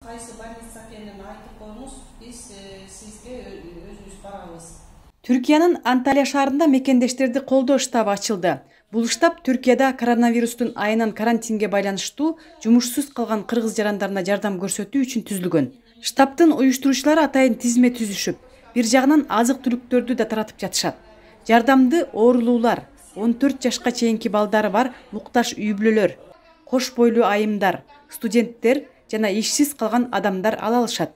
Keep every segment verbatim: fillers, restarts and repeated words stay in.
Кайсы больница экенин айтып коюңуз, биз сизге өзүбүз барабыз. Түркиянын Анталия шаарында мекендештерди колдоо штабы ачылды. Бул штаб Түркияда коронавирустун айынан карантинге байланыштуу жумушсуз калган кыргыз жарандарына жардам көрсөтүү үчүн түзүлгөн. Штабтын уюштуруучулары атайын тизме түзүшүп, бир жагынан азык-түлүктөрдү да таратып жатышат. Жардамды оорулуулар, он төрт жашка чейинки балдары бар муктаж үй бүлөлөр, кош бойлуу айымдар, студенттер жана ишсиз калган адамдар ала алышат.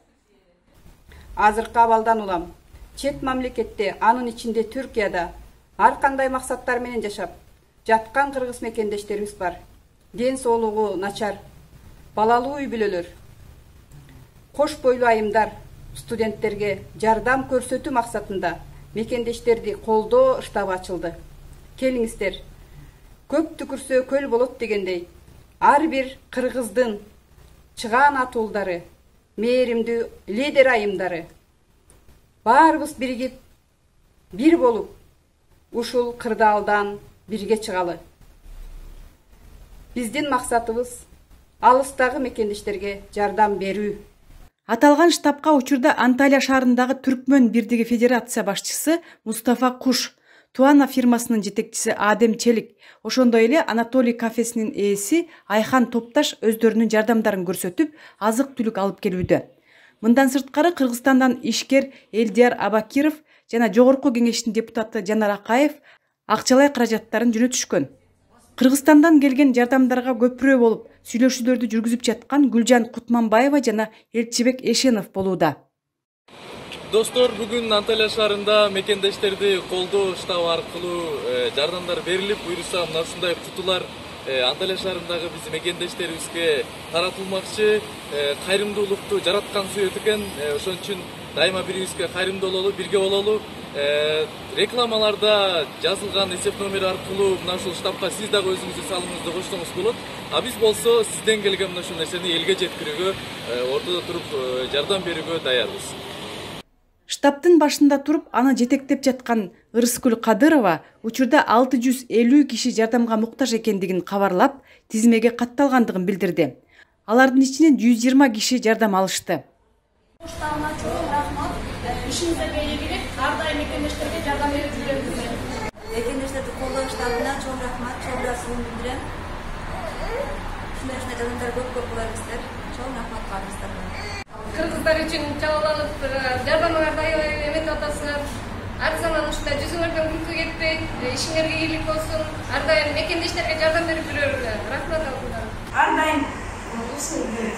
Азыркы абалдан улам чет мамлекетте, анын ичинде Түркияда ар кандай максаттар менен жашап жаткан кыргыз мекендештерибиз бар. Ден соолугу начар, балалуу үй бүлөлөр, кош бойлуу айымдар, студенттерге жардам көрсөтүү максатында мекендештерди колдоо штабы ачылды. Келиңиздер, көп түкүрсө көл болот дегендей, ар бир кыргыздын чыгаан атуулдары, мээримдүү лидер айымдары баарыбыз биригип, бир болуп, ушул кырдаалдан бирге чыгалы. Биздин максатыбыз алыстагы мекендештерге жардам берүү. Аталган штабка учурда Анталия шаарындагы Түркмөн Бирдиги Федерация башчысы Мустафа Куш, Туана фирмасынын жетекчиси Адем Челик, ошондой эле Анатолий кафесинин ээси Айхан Топташ өздөрүнүн жардамдарын көрсөтүп, азык-түлүк алып келүүдө. Мындан сырткары Кыргызстандан ишкер Элдияр Абакиров жана Жогорку кеңештин депутаты Жанар Акаев акчалай каражаттарын жөнөтүшкөн. Кыргызстандан келген жардамдарга көпүрө болуп, сүйлөшүүлөрдү жүргүзүп жаткан Гүлжан Кутманбаева жана Элчибек Эшенов болууда. Достор, бүгүн Анталия шаарында мекендештерди колдоо штабы аркылуу жардамдар берилип, буюрса мына ушундай кутулар Анталия шаарындагы биз мекендештерибизге таратылмакчы. Кайрымдуулукту жараткан сүйөт экен, ошон үчүн дайыма бирибизге кайрымдуу бололу, бирге бололу. Рекламаларда жазылган эсеп номери аркылуу мына ушул штабка сиз дагы өзүңүздү салымыңызды койсоңуз болот. А биз болсо сизден келген мына ушул нерсени элге жеткирүүгө, ортодо туруп жардам берүүгө даярбыз. Штабтын башында туруп, аны жетектеп жаткан Ырыскүл Кадырова учурда алты жүз элүү киши жардамга муктаж экендигин кабарлап, тизмеге катталгандыгын билдирди. Алардын ичинен жүз жыйырма киши жардам алышты. Штабына чоң рахмат. Ишиңизде бере берип, ар дайым мекендештерге жардам берип жүргөнүңүзгө. Мекендештерди колдоо штабына чоң рахмат, чоң ыраазычылыгымды билдирем. Ушундай жардамдар көп-көп кылабыздар. Чоң рахмат кылабыздар. Кыргыздар үчүн чалаланып жардамыңарды аябай эметип атасыңар. Ар заман ушундай жүзүңөрдөн күлкү кетпей, ишиңерге ийгилик болсун. Ар дайым мекендештерге жардам берип жүрөңүздөр. Рахмат алыңыздар. Ар дайым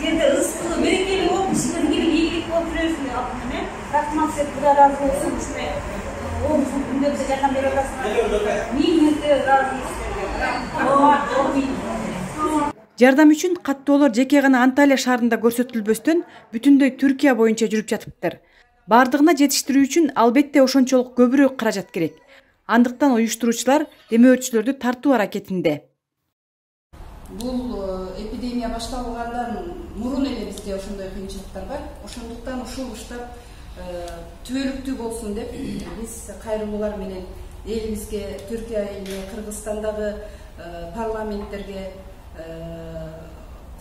жерде ызыкы берекелүү болуп, ишиңерге ийгилик болуп жүрөсүңөр. Рахмат деп Кудай ыраазы болсун. Ушундай оозун күндөрдө жардам берип атасыңар. Миңиңизге ыраазымыз. Рахмат. Жардам үчүн каттоолор жеке гана Анталия шаарында көрсөтүлбөстөн бүтүндөй Түркия боюнча жүрүп жатыптыр. Бардыгына жетиштирүү үчүн албетте ошончолук көбүрөөк каражат керек. Андыктан уюштуруучулар демөөрчүлөрдү тартуу аракетинде. Бул эпидемия башталгандан мурун эле бизде ошондой кыйынчылыктар бар. Ошондуктан ушул штаб түбөлүктүү болсун деп биз кайрымдуулар менен элибизге, Түркия элине, Кыргызстандагы парламенттерге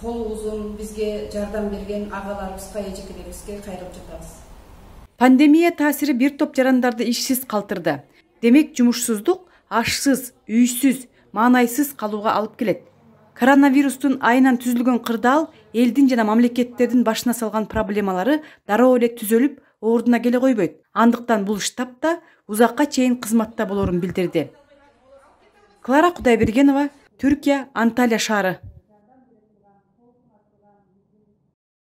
кол узун бизге жардам берген агаларыбызга, эжекелерибизге кайрылып жатабыз. Пандемия таасири бир топ жарандарды ишсиз калтырды. Демек, жумушсуздук ашсыз, үйсүз, маанайсыз калууга алып келет. Коронавирустун айынан түзүлгөн кырдаал элдин жана мамлекеттердин башына салган проблемалары дароо эле түзөлүп, ордуна келе койбойт. Андыктан бул штаб да узакка чейин кызматта болорун билдирди. Клара Кудайбергенова, Түркия, Анталия шаары.